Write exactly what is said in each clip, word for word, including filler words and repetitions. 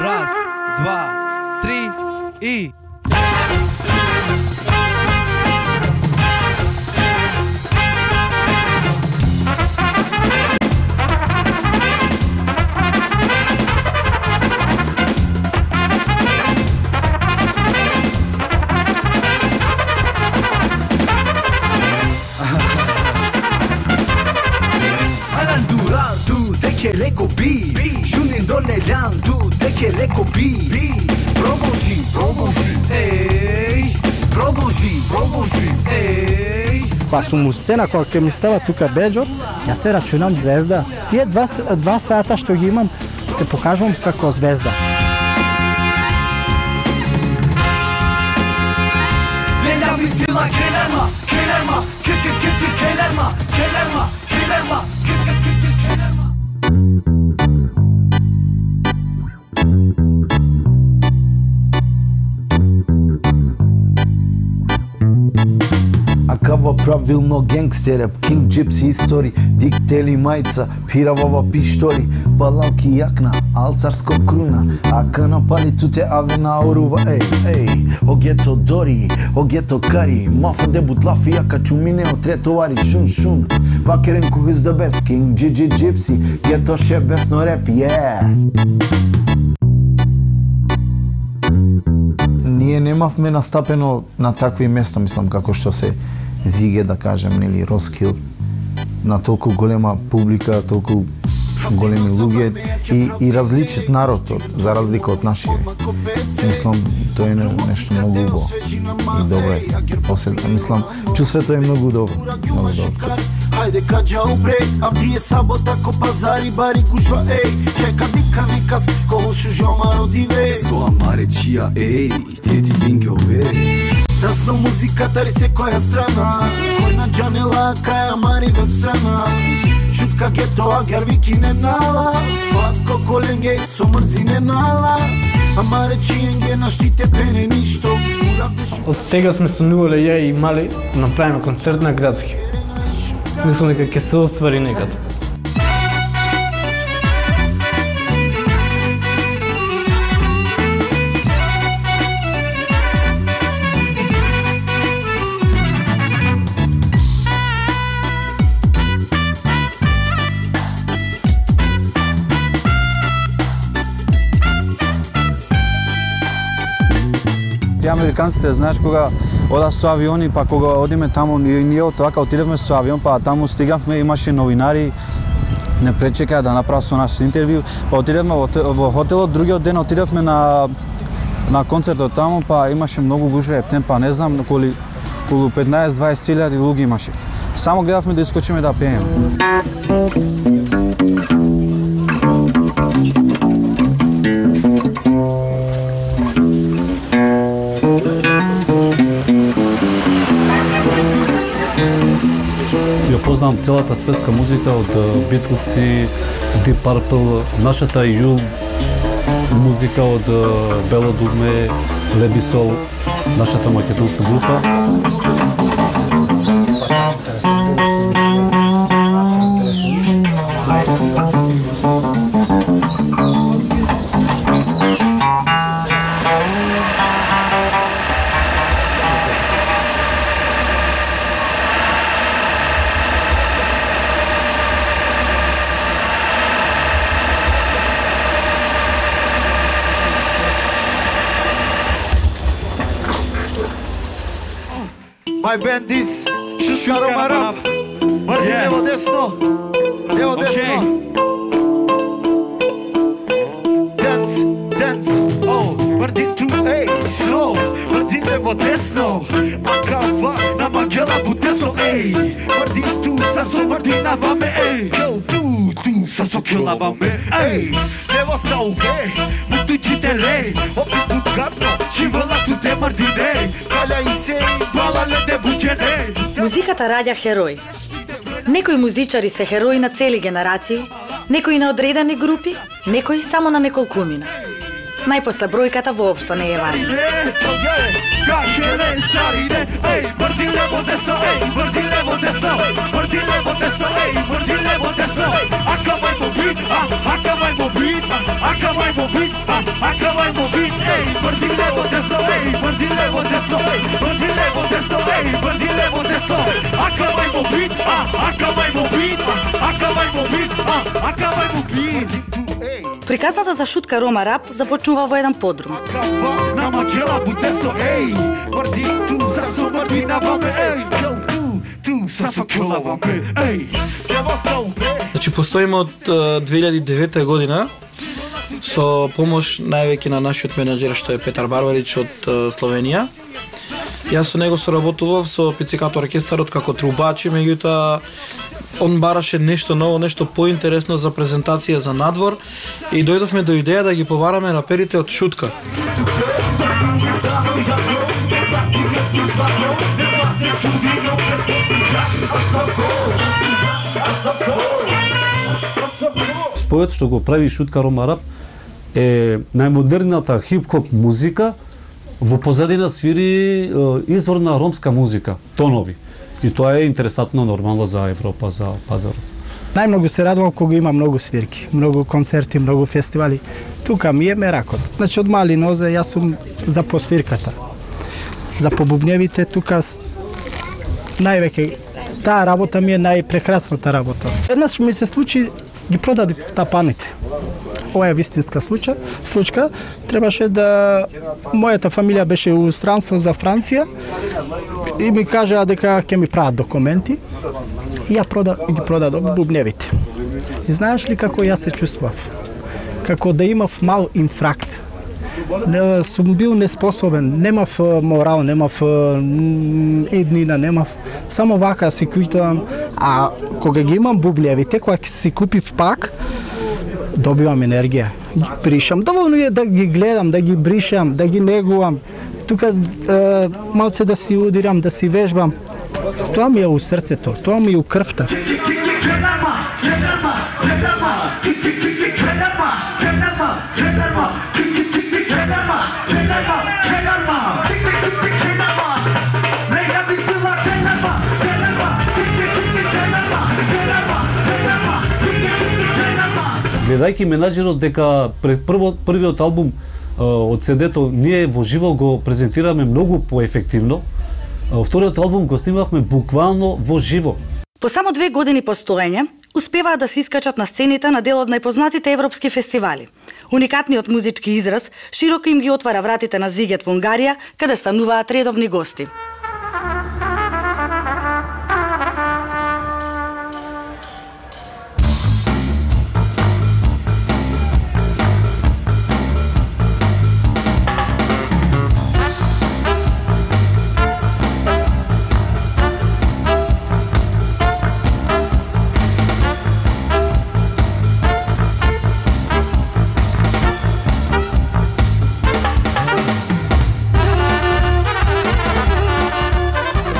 Раз, два, три и... Leko bi, Junin dole landu, deke leko bi, Продолжи, продолжи, ей, продолжи, продолжи, ей. Па сум у сцена кога ќе ми става тука беџот, ја се рачунам звезда. Тие два, два сата што ги имам, се покажувам како звезда. Леля ми сила, келерма, келерма, ке-ке, ке-ке, келерма, келерма, келерма, ке-ке, ке-ке, келерма. Акава правилно генгстереп, кинг джипси истори, диктели мајца, пиравава пиштори, балалки јакна, алцарско круна, ака напали туте авена орува, ей, ей, огето дори, огето кари, мафа дебут лафи, ака чумине о третовари, шун шун, вакерен кухис да без, кинг джиджи джипси, гето ше бесно реп, yeah. Ние немавме настапено на такви места, мислам, како што се Зиге, да кажем, нели, Роскилд, на толку голема публика, толку големи луѓе и, и различит народ, за разлика од нашите. Мислам, тоа е нешто многу убаво и добро. После, мислам, чувството е многу добро. Многу добро. Хајде каджа упре, а вие сабота ко пазари бари кужба, ей, чека дика некас, коло шужома родиве. Со амаре чија, ей, тети линке ове. Тасно музиката ри секоја страна, кој на джанела, кај амари веб страна. Шутка гето, а гервики не нала, фатко коленге, со мрзи не нала. Амаре чиенге, наштите пене ништо. Од сега сме сонувале ја и Мали, направиме концерт на градски. Мислам дека ќе се оствари некад. Тие американците, знаеш, кога одат со авиони, па кога одиме таму, и ние од вака отидевме со авион, па таму стигавме, имаше новинари, не пречекаа да направат со нас интервју, па отидевме во, во хотелот, другиот ден отидевме на на концертот таму, па имаше многу гужва ептен, па не знам, коли околу петнаесет до дваесет илјади луѓе имаше. Само гледавме да искочиме да пееме. Ја познавам целата светска музика од Битлси, Deep Purple, нашата ју музика од Бело Дугме, Лебисол, нашата македонска група. My band is Shukaro Rap. Martin, levo desno. Levo desno. Dance, dance. Oh, Martin tu, ej, slow. Martin levo desno. Akava na magela buteso, ej. Martin tu, saso Martin navame, ej. Yo tu, tu, saso kilavame, ej. Levo sa uve, mutu chitele. Opet butgatno, chivala tu te Martine. Kala i se, bala le de buđene. Музиката раѓа херои. Некои музичари се херои на цели генерации, некои на одредени групи, некои само на неколкумина. најпосле бројката воопшто не е важна. Кај ле царине, еј, врти лево десно, еј, врти лево десно, врти лево десно, еј, врти лево десно. Акавај му бит, а, акавај му бит, акавај му бит, а, акавај му бит, еј, врти лево десно, еј, врти лево десно, еј, врти лево десно, еј, врти лево десно. Акавај му бит, а, акавај му бит, акавај му бит, а, акавај му бит. Приказната за шутка Рома Рап започнува во еден подрум. На макела будесно, еј, мрди ту, са со мрди на ваме, еј, ту, ту, са со кела ваме, еј, ево со бе. Значи, постоиме од две илјади и девета година со помош највеќе на нашиот менеджер што е Петар Барбарич од Словенија. Јас со него соработував со Пицикато оркестарот како трубач, меѓутоа он бараше нешто ново, нешто поинтересно за презентација за надвор и дојдовме до идеја да ги побараме раперите од шутка. Спојот што го прави шутка Рома Рап е најмодерната хип-хоп музика, во позадина свири е, изворна ромска музика, тонови. И тоа е интересантно нормално за Европа, за пазарот. Најмногу се радувам кога има многу свирки, многу концерти, многу фестивали. Тука ми е меракот. Значи од мали нозе јас сум за посвирката. За побубневите тука највеќе таа работа ми е најпрекрасната работа. Еднаш ми се случи ги продадив тапаните. Ова е вистинска случка. Случка требаше да мојата фамилија беше у странство за Франција и ми кажаа дека ќе ми прават документи. И ја прода, ги продадов бубневите. И знаеш ли како јас се чувствував? Како да имав мал инфракт. Не, сум бил неспособен, немав морал, немав еднина, немав. Само вака си куитам, а кога ги имам бубневите, кога си купив пак, добивам енергија. Ги бришам. Доволно е да ги гледам, да ги бришам, да ги негувам. Тука е, малце да си удирам, да си вежбам. Тоа ми е у срцето, тоа ми е у крвта. Гледајќи менаџерот дека пред прво, првиот албум од седето ние во живо го презентираме многу поефективно, вториот албум го снимавме буквално во живо. По само две години постоење, успеваат да се искачат на сцените на дел од најпознатите европски фестивали. Уникатниот музички израз широко им ги отвара вратите на Зигет во Унгарија, каде стануваат редовни гости.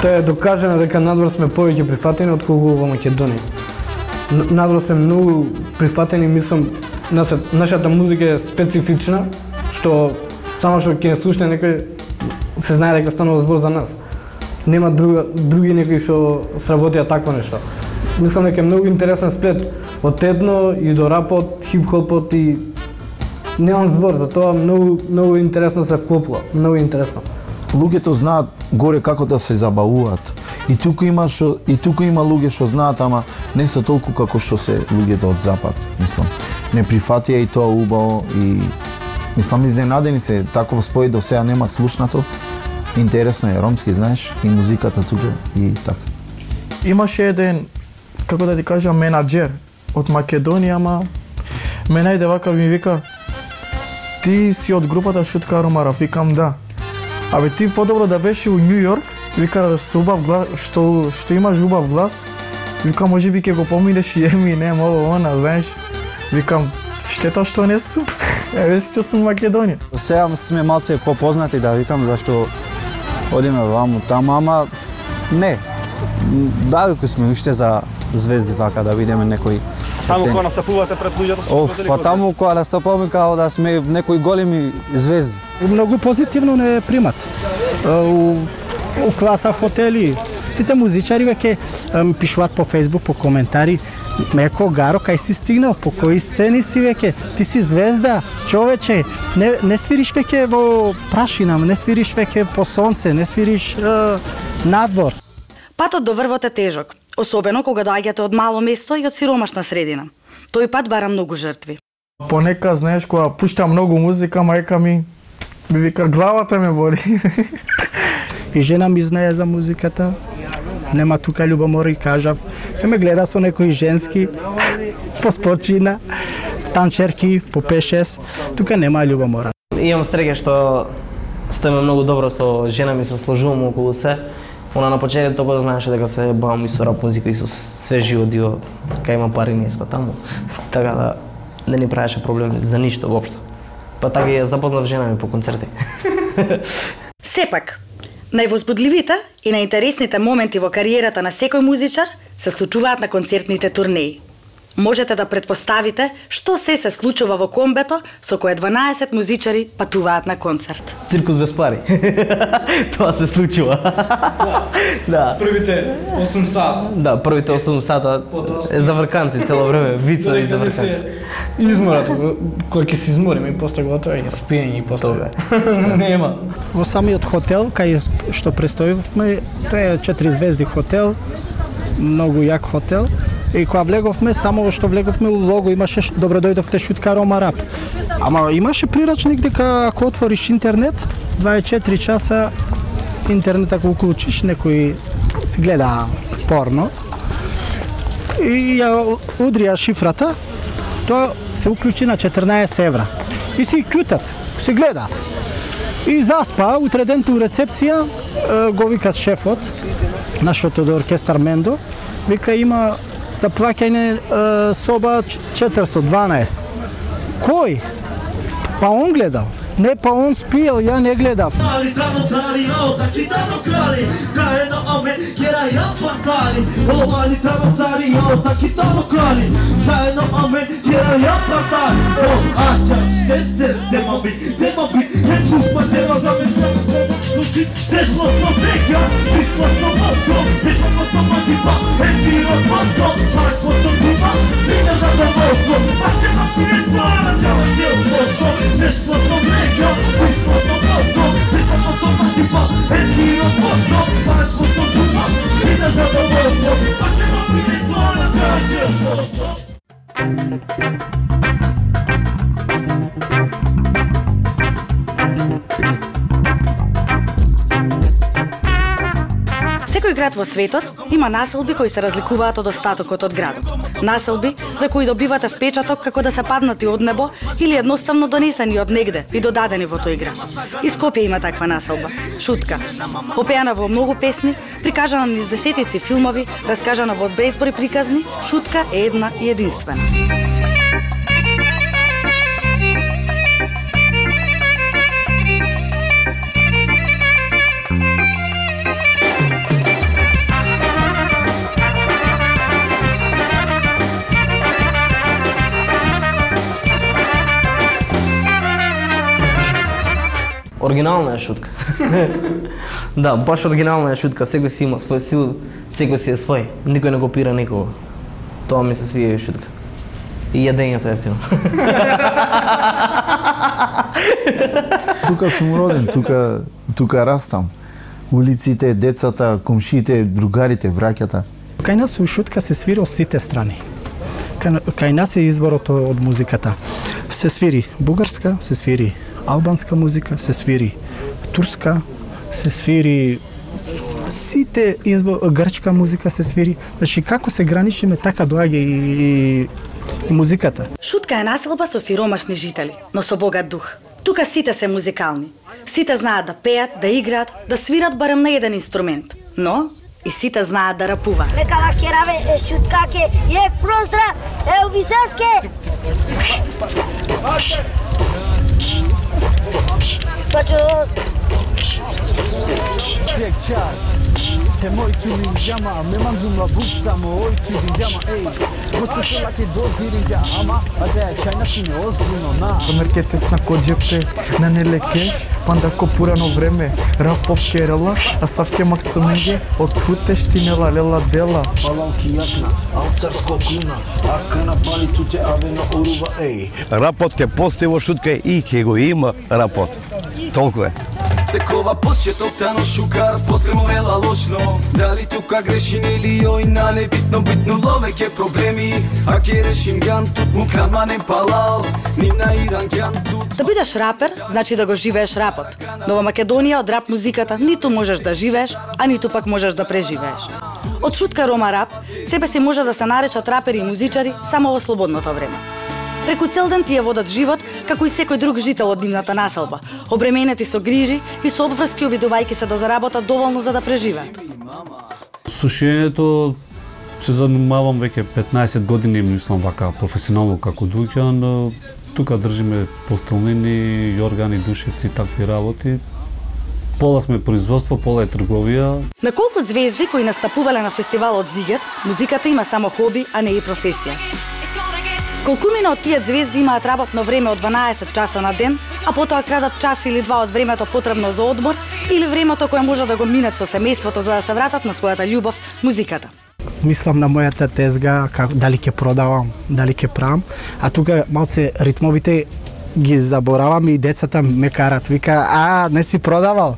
Тоа е докажано дека надвор сме повеќе прифатени отколку во Македонија. Надвор сме многу прифатени, мислам, нашата музика е специфична, што само што ќе слушне некој се знае дека станува збор за нас. Нема друга, други некои што сработија такво нешто. Мислам дека е многу интересен сплет од етно и до рапот, хип-хопот и немам збор, затоа многу многу интересно се вклопува, многу интересно. Луѓето знаат горе како да се забавуваат. И тука има што и тука има луѓе што знаат, ама не се толку како што се луѓето од запад, мислам. Не прифатија и тоа убаво и мислам изненадени се, таков спој до сега нема слушнато. Интересно е, ромски знаеш и музиката тука и така. Имаше еден, како да ти кажам, менаџер од Македонија, ама ме најде вака ми вика: "Ти си од групата Шутка Рома Рап?" Викам да. Абе ти подобро да беше у Њу Јорк, вика со убав глас, што што имаш убав глас. Вика можеби ќе го поминеш и Еминем, ово она, знаеш. Викам штета што не сум. Еве што сум Македонија. Сега сме малце попознати, да викам, зашто одиме ваму таму, ама не. Далеку сме уште за звезди така да видиме некој Таму кога настапувате пред луѓето се Оф, па таму кога настапуваме као да сме некои големи звезди. Многу позитивно не примат. У, у класа хотели, сите музичари веќе ми пишуваат по Facebook, по коментари, Меко Гаро, кај си стигнал, по кои сцени си веќе, ти си звезда, човече, не, не свириш веќе во прашина, не свириш веќе по сонце, не свириш е, надвор. Патот до врвот е тежок, особено кога доаѓате од мало место и од сиромашна средина. Тој пат бара многу жртви. Понекад, знаеш, кога пуштам многу музика, мајка ми ми вика, главата ме боли. И жена ми знае за музиката. Нема тука љубомори, кажав. Ке ме гледа со некои женски, по спочина, танчерки, по пет шест. Тука нема љубомора. Имам среќа што стоиме многу добро со жена ми, се сложуваме околу се. Она на почетокот го знаеше дека се бавам и со рап музика и со свежи одио, кај има пари неско таму. Така да не ни правеше проблем за ништо воопшто. Па така ја запознав жена ми по концерти. Сепак, највозбудливите и најинтересните моменти во кариерата на секој музичар се случуваат на концертните турнеи. Можете да предпоставите што се се случува во комбето со кое дванаесет музичари патуваат на концерт. Циркус без пари. Тоа се случува. Да. Првите осум сата. Да, првите осум сата е за врканци цело време, вицови за врканци. Изморат, кој ќе се измориме и после готово ќе спиење и после. Нема. Во самиот хотел кај што престојувавме, тоа е четири звезди хотел, многу јак хотел. И кога влеговме, само што влеговме у лого имаше добро дојдовте шутка Рома Рап. Ама имаше прирачник дека ако отвориш интернет, дваесет и четири часа интернет ако уклучиш, некој си гледа порно. И ја удрија шифрата, тоа се уклучи на четрнаесет евра. И си кјутат, си гледаат. И заспа, утре ден у рецепција го викат шефот, нашот од оркестар Мендо, вика има за плаќање соба четиристо дванаесет. Кој? Па он гледал. Не, па он спиел, ја не гледав. Секој град во светот има населби кои се разликуваат од остатокот од градот. Населби за кои добивате впечаток како да се паднати од небо или едноставно донесени од негде и додадени во тој град. И Скопје има таква населба. Шутка. Попеана во многу песни, прикажана низ десетици филмови, раскажана во безброј приказни, Шутка е една и единствена. Оригинална е шутка. Да, баш оригинална е шутка, секој си има свој стил, секој си е свој, никој не го пира никого. Тоа ми се свија шутка. И јадењето е ефтино. Тука сум роден, тука, тука растам. Улиците, децата, комшите, другарите, браќата. Кај нас у шутка се свири од сите страни. Кај, кај нас е изворот од музиката. Се свири бугарска, се свири албанска музика, се свири турска, се свири сите избор, грчка музика се свири. Значи како се граничиме, така доаѓа и, и, и музиката. Шутка е населба со сиромашни жители, но со богат дух. Тука сите се музикални. Сите знаат да пеат, да играат, да свират барем на еден инструмент. Но и сите знаат да рапуваат. Лека кераве, шуткаке, е простран, е увисеске. Check, check. Е мој чудин џама, ме мандум ла букса, мој чудин џама, ей. После цела ке додирин џама, а да ја чајна си не озбилно, на. Замерке тесна коджепте, на не лекеш, панда ко пурано време, рапов керела, а савке максиминге, од хуте штинела лела дела. Палалки јакна, алцарско круна, ака на пали туте авена урува, ей. Рапот ке постои во шутка и ке го има рапот. Толку е. Секова почеток тано шукар, после му ела лошно. Дали тука грешим или ој на небитно битно ловеќе проблеми. А ке решим ган тут му каманен палал, ни на Иран ган тут. Да бидеш рапер, значи да го живееш рапот. Но во Македонија од рап музиката ниту можеш да живееш, а ниту пак можеш да преживееш. Од шутка Рома Рап, себе си може да се наречат рапери и музичари само во слободното време. Преку цел ден тие водат живот како и секој друг жител од нивната населба, обременети со грижи и со обврски, обидувајќи се да заработат доволно за да преживеат. Со шиењето се занимавам веќе петнаесет години, мислам вака професионално како Дуќан. Тука држиме постелнини, јоргани, душици, такви работи. Пола сме производство, пола е трговија. На колку звезди кои настапувале на фестивалот Зигет, музиката има само хоби, а не и професија. Колкумина од тие звезди имаат работно време од дванаесет часа на ден, а потоа крадат час или два од времето потребно за одмор или времето кое може да го минат со семејството за да се вратат на својата љубов, музиката. Мислам на мојата тезга, как, дали ќе продавам, дали ќе правам, а тука малце ритмовите ги заборавам и децата ме карат, вика, а, не си продавал?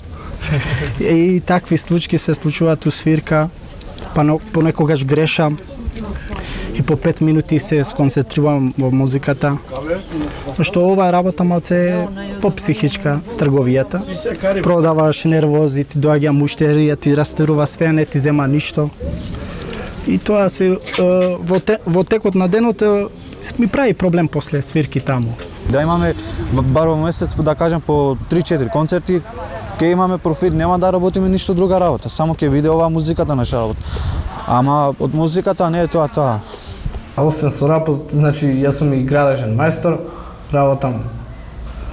И такви случаи се случуваат у свирка, па понекогаш грешам, и по пет минути се сконцентрирам во музиката. Што ова работа малце е по-психичка, трговијата. Продаваш, нервози, ти доаѓа муштерија, ти растерува све, не ти зема ништо. И тоа се во, те, во текот на денот ми прави проблем после свирки таму. Да имаме бар во месец, да кажем, по три-четири концерти, ке имаме профит, нема да работиме ништо друга работа, само ке биде оваа музиката наша работа. Ама од музиката не е тоа тоа. А освен со рапот, значи јас сум и градежен мајстор, работам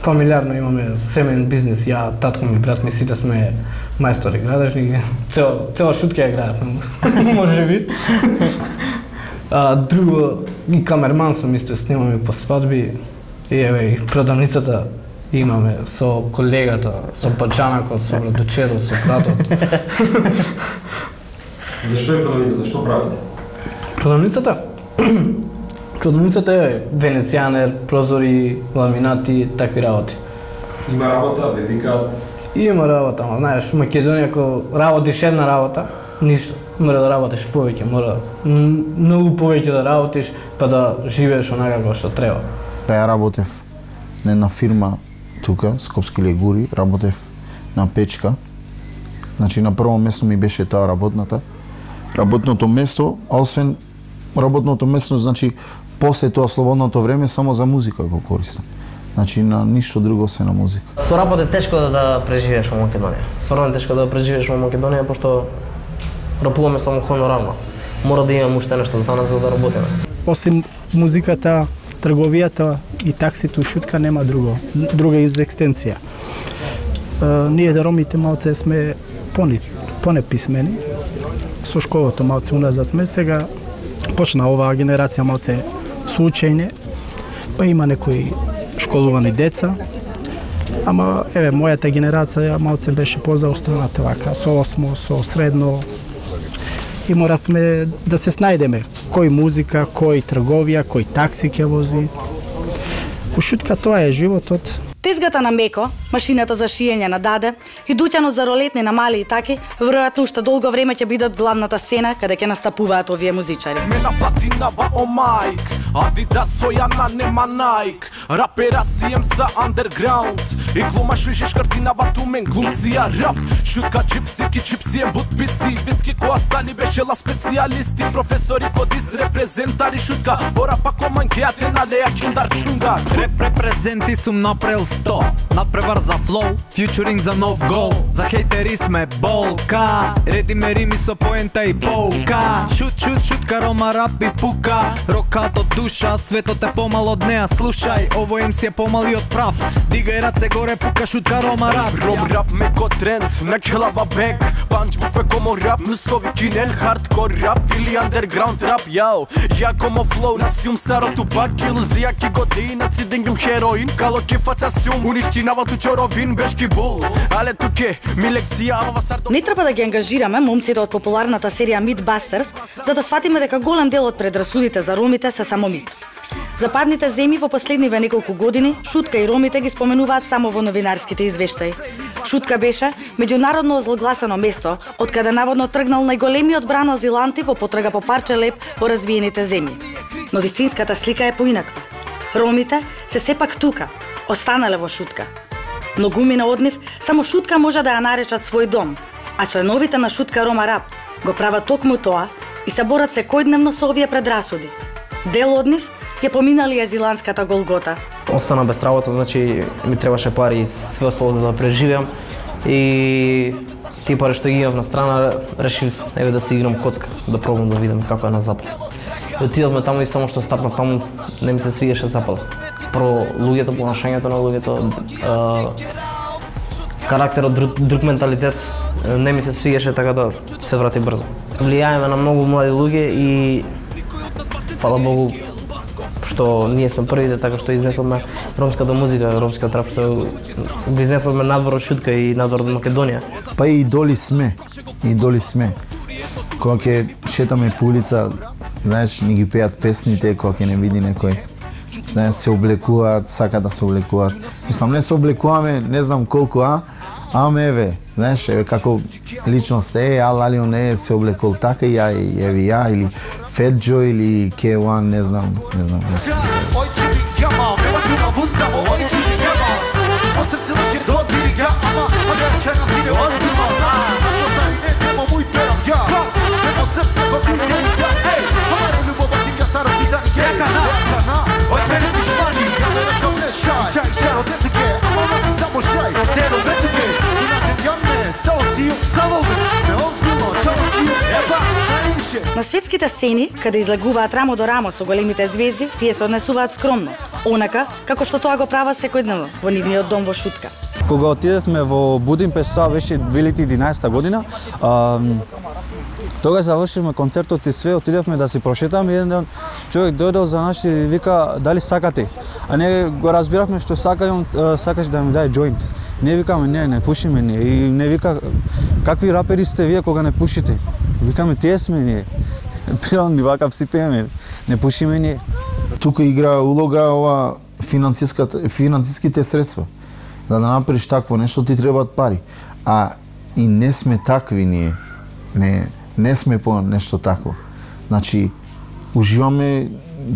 фамилиарно, имаме семеен бизнис, ја, татко ми, брат ми, сите сме мајстори градежни, цела, цела шутка ја градевме, може би. А, друго, и камерман сум исто, снимаме по свадби, и еве и продавницата имаме со колегата, со паџанакот, со братучерот, со братот. Зашто е продавницата? Што правите? Продавницата? Продавницата е венецијанер, прозори, ламинати, такви работи. Има работа, ве викаат? Има работа, ама знаеш, Македонија ако работиш една работа, ништо. Мора да работиш повеќе, мора многу повеќе да работиш, па да живееш онака како што треба. Ја работев на една фирма тука, Скопски легури, работев на печка. Значи на прво место ми беше таа работната. Работното место, а освен работното место, значи после тоа слободното време само за музика го користам. Значи на ништо друго се на музика. Со работ е тешко да, да преживееш во Македонија. Стварно е тешко да преживееш во Македонија, пошто рапуваме само хонорарно. Мора да имаме уште нешто за нас за да работиме. Осим музиката, трговијата и таксито, шутка нема друго, друга екстенција. Ние да ромите малце сме пони, понеписмени. Со школото малце уназад сме, сега почна оваа генерација малце со учење, па има некои школувани деца, ама еве мојата генерација малце беше позаостаната вака, со осмо, со средно, и моравме да се снајдеме кој музика, кој трговија, кој такси ќе вози. У шутка тоа е животот. Тезгата на Меко, машината за шиење на Даде и дуќанот за ролетни на Мали и Таки, веројатно уште долго време ќе бидат главната сцена каде ќе настапуваат овие музичари. Мена платинава о мајк, Адидас Сојана нема Најк, рапера си ем са андерграунд, и глумаш вижеш картинава тумен глумција рап, шутка джипси ки чипси ем вудписи, виски која стали бешела специјалисти, професори подис репрезентари шутка, ора па комангеате на леја киндар чунгар. Реп репрезенти сум напрел сто, надпревар за флоу, фьючеринг за нов гол, за хейтери сме болка, редиме рими со поента и полка, шут шут шутка Рома Рап и пука, рокат од душа, светот е помал од неа, слушај, ово ем си е помали од прав, дигај раце горе пука шутка рома рап. Ром рап меко тренд, на келава бек. Панч букве комо рап, мустови кинен хардкор рап или андерграунд рап. Јао, ја комо флоу на сјум саро тупак, илузија ки година цидингим хероин, кало ки фаца сјум, уништинава ту чоровин бешки бул. Але туке ми лекција ава сардо. Не треба да ги ангажираме момците од популарната серија Mythbusters за да сватиме дека голем дел од предрасудите за ромите се само мит. Западните земји во последниве неколку години Шутка и ромите ги споменуваат само во новинарските извештаи. Шутка беше меѓународно озлогласено место од каде наводно тргнал најголемиот бран азиланти во потрага по парче леп во развиените земји. Но вистинската слика е поинаква. Ромите се сепак тука, останале во Шутка. Многумина од нив само Шутка може да ја наречат свој дом, а членовите на Шутка Рома Рап го прават токму тоа и се борат секојдневно со овие предрасуди. Дел од нив ја поминали азиланската голгота. Остана без работа, значи ми требаше пари и све осло за да преживеам. И тие пари што ги имав на страна, решив еве да си играм коцка, да пробам да видам како е на запад. И отидовме таму и само што стапнав таму не ми се свигаше запад. Прво луѓето, понашањето на луѓето, карактерот, друг, друг менталитет не ми се свигаше, така да се врати брзо. Влијаеме на многу млади луѓе и фала Богу што ние сме првите така што изнесовме ромската музика, ромскиот рап, што го изнесовме надвор од Шутка и надвор од Македонија. Па и идоли сме, идоли сме. Кога ќе шетаме по улица, знаеш, ни ги пеат песните, кога ќе не види некој. Знаеш, се облекуваат, сака да се облекуваат. Мислам, не се облекуваме, не знам колку, а? Аме еве, знаеш, еве како личност, е, ал Алио не се облекол така и ја, еве ја, или Fat Joe или K еден, не знам, не знам. На светските сцени, каде излегуваат рамо до рамо со големите звезди, тие се однесуваат скромно, онака како што тоа го прават секојдневно во нивниот дом во Шутка. Кога отидевме во Будимпешта, тоа беше две илјади и единаесета година, а, тогаш завршивме концертот и све, отидевме да си прошетаме, еден ден човек дојдел за нас и вика дали сакате. А ние го разбиравме што сака и он сакаш да ми даде џоинт. Не викаме не, не пушиме ние. И не вика какви рапери сте вие кога не пушите. Викаме тие сме ние. Природни вака си пееме, не пушиме ние. Тука игра улога ова финансиската финансиските средства. Да да направиш такво нешто ти требаат пари. А и не сме такви ние. Не не сме по нешто такво. Значи уживаме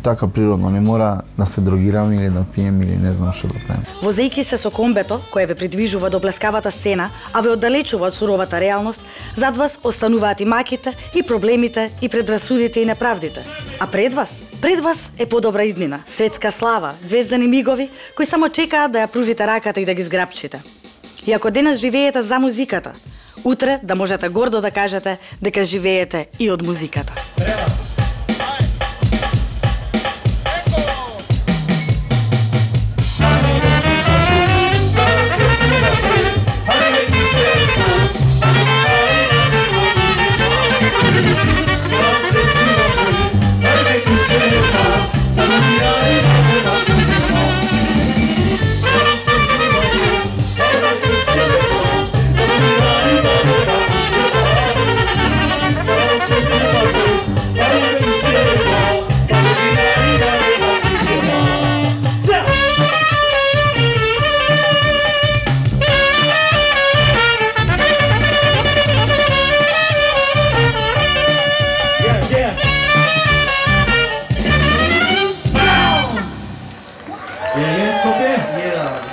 така природно, не мора да се дрогираме или да пиеме или не знам што да правиме. Возејки се со комбето, кое ве придвижува до блескавата сцена, а ве оддалечува од суровата реалност, зад вас остануваат и маките, и проблемите, и предрасудите и неправдите. А пред вас? Пред вас е подобра иднина, светска слава, звездани мигови, кои само чекаат да ја пружите раката и да ги зграпчите. И ако денес живеете за музиката, утре да можете гордо да кажете дека живеете и од музиката.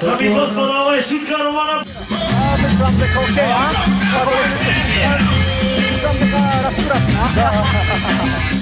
Dami i gospodo, ovo je Šutka Roma Rap. Mislim da kao okej, a? Mislim da rasturati, a?